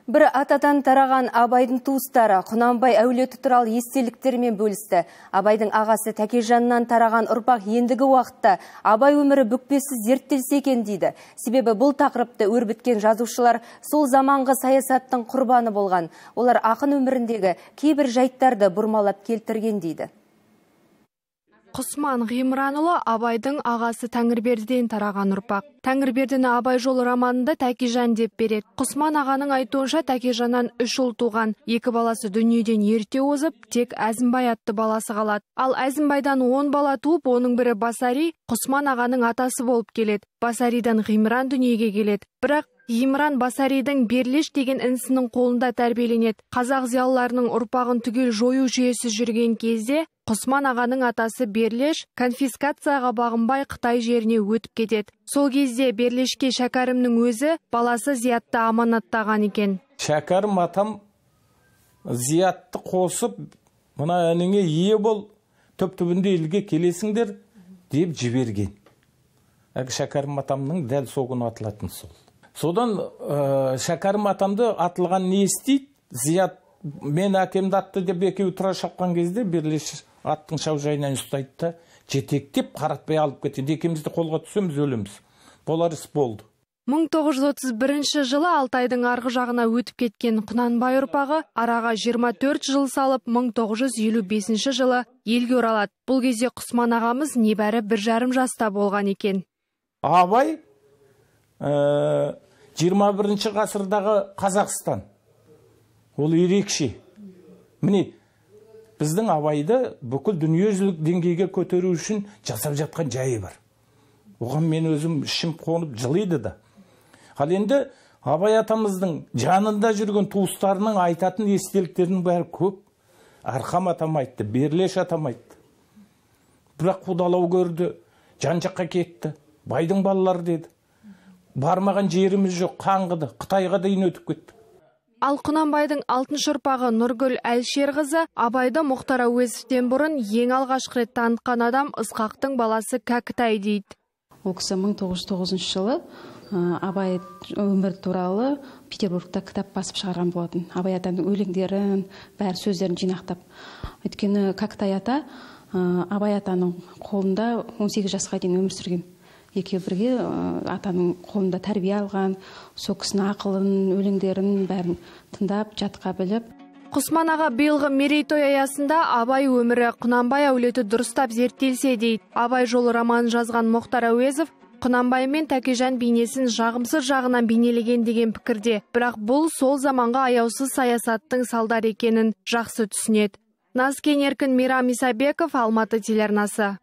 Бір атадан тараған Абайдың туыстары Құнанбай әулеті туралы естеліктермен бөлісті. Абайдың ағасы Тәкежаннан тараған ұрпақ ендігі уақытта Абай өмірі бүкпесіз зерттелсе екен дейді. Себебі бұл тақырыпты өрбіткен жазушылар сол заманғы саясаттың құрбаны болған. Олар ақын өміріндегі кейбір жайттарды бұрмалап келтірген дейді. Құсман Ғимранұлы Абайдың ағасы Тәңірбердіден тараған ұрпақ. Тәңірбердіні Абай жолы романында Тәкежан деп береді. Құсман ағаның айтуынша Тәкежаннан 3 ұл туған. 2 баласы дүниеден ерте озып, тек Әзімбай атты баласы қалады. Ал Әзімбайдан 10 бала туып, оның бірі Басари, Құсман ағаның атасы болып келеді. Басаридан Ғимран дүниеге келеді. Бірақ Ғимран Басаридің Берлеш деген інісінің қолында тәрбиеленеді. Қазақ зиялыларының ұрпағын түгел жою жүйесі жүрген кезде Құсман ағаның атасы Берлеш конфискацияға бағынбай Қытай жеріне өтіп кетеді. Сол кезде Берлешке Шәкәрімнің өзі баласы Зиятты аманаттаған екен. Шәкәрім атам Зиятты қосып, мына әніңе ие бол, түп-түбінде елге келесіңдер деп жіберген. Шәкәрім атамның дәл соғын атылатын сол. Содан Шәкәрім атамды атылған не істейді? Зият мен әкемді атты деп екеуі тұра шапқан кезде Берлеш аттың шаужайынан ұстайды да жетектеп қаратпай алып кетеді. Екеумізді қолға түсеміз, өлеміз. Болар іс болды. 1931 жылы Алтайдың арғы жағына өтіп кеткен Құнанбай ұрпағы араға 24 жыл салып 1955 жылы елге оралады. Бұл кезде Құсман ағамыз небәрі 1,5 жаста болған екен. Абай 21 ғасырдағы Қазақстан. Ол ерекше. Міне, біздің Абайды бүкіл дүниежүзілік деңгейге көтеру үшін жасап жатқан жайы бар. Оған мен өзім ішім қонып жылайды да. Ал енді Абай атамыздың жанында жүрген туыстарының айтатын естеліктерінің бәрі көп. Арқам атам айтты, Берлеш атам айтты. Бірақ қудалау көрді, жан жаққа кетті. Байдың балалары деді. Бармаған жеріміз жоқ, қаңғыды, Қытайға дейін өтіп кетті. Ал Құнанбайдың 6-шы ұрпағы Нұргүл Әлшерқызы Абайды Мұхтар Әуезовтен бұрын ең алғашқы рет танытқан адам Ысқақтың баласы Кәкітай дейді. Ол кісі 1909 жылы Абай өмір туралы Петербургта кітап басып шығарған болатын. Абай атаның өлеңдерін, бәр сөздерін жинақтап. Өйткені Кәкітай ата Абай атаның қолында 18 жасқа дейін өмір сүрген. Екеуі бірге атаның қолында тәрбие алған, сол кісінің ақылын, өлеңдерін бәрін тыңдап, жатқа біліп. Құсман аға биылғы мерейтой аясында Абай өмірі Құнанбай әулеті дұрыстап зерттелсе дейді. Абай жолы романын жазған Мұхтар Әуезов Құнанбай мен Тәкежан бейнесін жағымсыз жағынан бейнелеген деген пікірде. Бірақ бұл сол заманға аяусыз саясаттың салдар екенін жақсы түсінеді. Назкен Еркін, Мейрам Исабеков, Алматы телеарнасы.